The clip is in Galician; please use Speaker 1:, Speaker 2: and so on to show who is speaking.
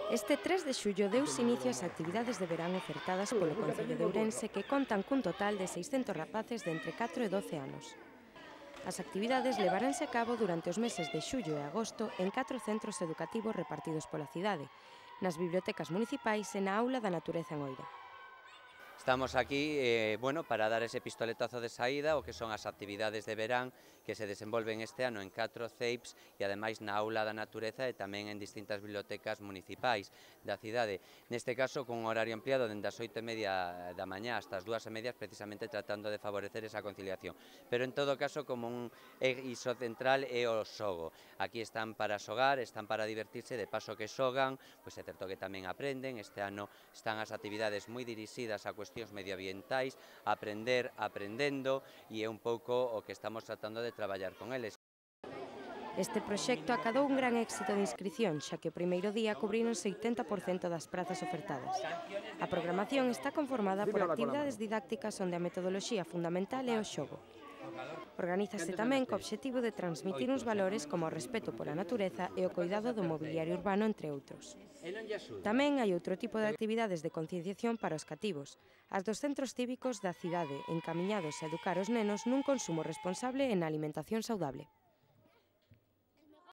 Speaker 1: Este 3 de xullo deuse inicio ás actividades de verán ofertadas polo Concello de Ourense que contan cun total de 600 rapaces de entre 4 e 12 anos. As actividades levaránse a cabo durante os meses de xullo e agosto en 4 centros educativos repartidos pola cidade, nas bibliotecas municipais e na Aula da Natureza en Oira.
Speaker 2: Estamos aquí para dar ese pistoletazo de saída o que son as actividades de verán que se desenvolven este ano en 4 CEIPs e ademais na Aula da Natureza e tamén en distintas bibliotecas municipais da cidade. Neste caso, con un horario ampliado dende as 8:30 da mañá hasta as 2:30, precisamente tratando de favorecer esa conciliación. Pero en todo caso, como un eixo central é o xogo. Aquí están para xogar, están para divertirse, de paso que xogan, pois é certo que tamén aprenden. Este ano están as actividades moi dirixidas a cuestións medioambientais, aprender aprendendo, e é un pouco o que estamos tratando de traballar con eles.
Speaker 1: Este proxecto acadou un gran éxito de inscripción, xa que o primeiro día cubríronse 80% das prazas ofertadas. A programación está conformada por actividades didácticas onde a metodoloxía fundamental é o xogo. Organízase tamén co obxectivo de transmitir uns valores como o respeto pola natureza e o coidado do mobiliario urbano, entre outros. Tamén hai outro tipo de actividades de concienciación para os cativos, as dos centros cívicos da cidade, encamiñados a educar os nenos nun consumo responsable e na alimentación saudable.